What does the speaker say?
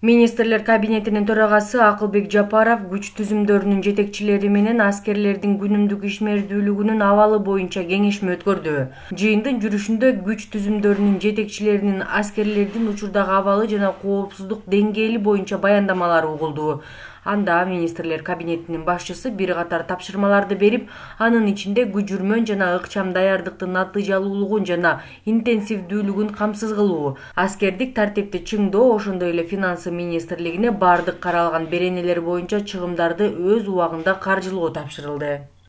Министрлер кабинетинин төрагасы Акылбек Жапаров күч түзүмдөрүнүн жетекчилери менен аскерлердин күнүмдүк ишмердүүлүгүнүн абалы боюнча кеңешме өткөрдү. Жыйындын жүрүшүндө күч түзүмдөрүнүн жетекчилеринин аскерлердин учурдагы абалы жана коопсуздук деңгээли боюнча баяндамалары угулду. Анда министрлер кабинетинин башчысы бир катар тапшырмаларды берип, анын ичинде күчүрмөн жана ыкчам даярдыктын натыйжалуулугун жана интенсивдүүлүгүн камсыз кылуу, аскердик тартипти чыңдоо, ошондой эле финансы министрлигине бардык каралган беренелер боюнча чыгымдарды өз убагында каржылоо тапшырылды.